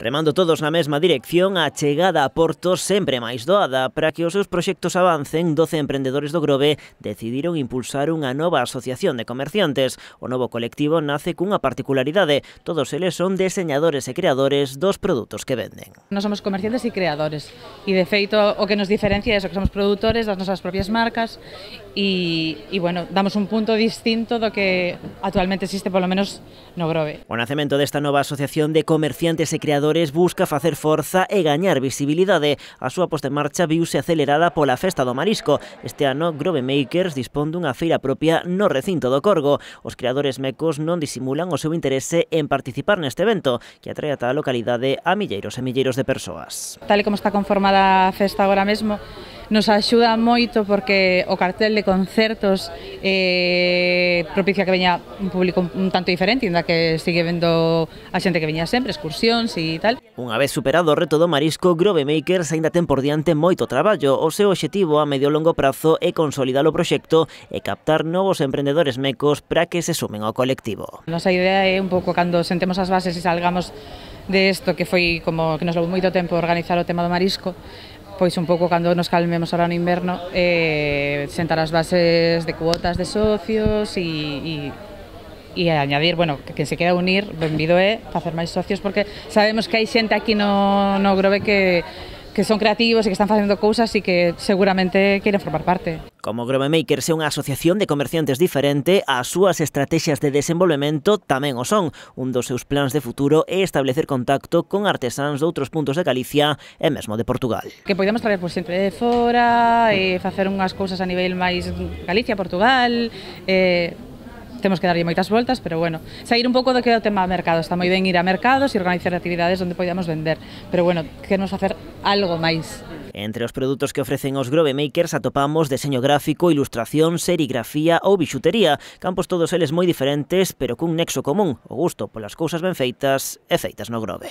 Remando todos na mesma dirección, a chegada a Porto sempre máis doada. Para que os seus proxectos avancen, 12 emprendedores do Grove decidiron impulsar unha nova asociación de comerciantes. O novo colectivo nace cunha particularidade. Todos eles son diseñadores e creadores dos produtos que venden. Nós somos comerciantes e creadores e, de feito, o que nos diferencia é que somos produtores das nosas propias marcas e bueno, damos un punto distinto do que actualmente existe, polo menos no Grove. O nacemento desta nova asociación de comerciantes e creadores busca facer forza e gañar visibilidade. A súa posta en marcha viuse acelerada pola Festa do Marisco. Este ano, Grove Makers dispón dunha feira propia no recinto do Corgo. Os creadores mecos non disimulan o seu interese en participar neste evento, que atrae a tal localidade a milleiros e milleiros de persoas. Tal e como está conformada a festa agora mesmo, nos axuda moito porque o cartel de concertos propicia que veña un público un tanto diferente, ainda que sigue vendo a xente que veña sempre, excursións e tal. Unha vez superado o reto do marisco, Grove Makers aínda ten por diante moito traballo. O seu obxectivo a medio e longo prazo é consolidar o proxecto e captar novos emprendedores mecos para que se sumen ao colectivo. Nosa idea é un pouco cando sentemos as bases e salgamos de isto, que foi como que nos levou moito tempo organizar o tema do marisco, pois un pouco cando nos calmemos ahora no inverno, sentar as bases de cuotas de socios e añadir, bueno, que quen se quera unir, benvido é facer máis socios, porque sabemos que hai xente aquí no Grove que son creativos e que están facendo cousas e que seguramente queren formar parte. Como Grove Makers é unha asociación de comerciantes diferente, as súas estrategias de desenvolvemento tamén o son. Un dos seus plans de futuro é establecer contacto con artesáns de outros puntos de Galicia e mesmo de Portugal. Que podemos traer por xente de fora e facer unhas cousas a nivel máis Galicia, Portugal, temos que darlle moitas voltas, pero bueno, sair un pouco do que é o tema mercado. Está moi ben ir a mercados e organizar actividades onde podamos vender, pero bueno, queremos facer algo máis. Entre os produtos que ofrecen os Grove Makers atopamos deseño gráfico, ilustración, serigrafía ou bixutería, campos todos eles moi diferentes, pero cun nexo común, o gusto polas cousas ben feitas e feitas no Grove.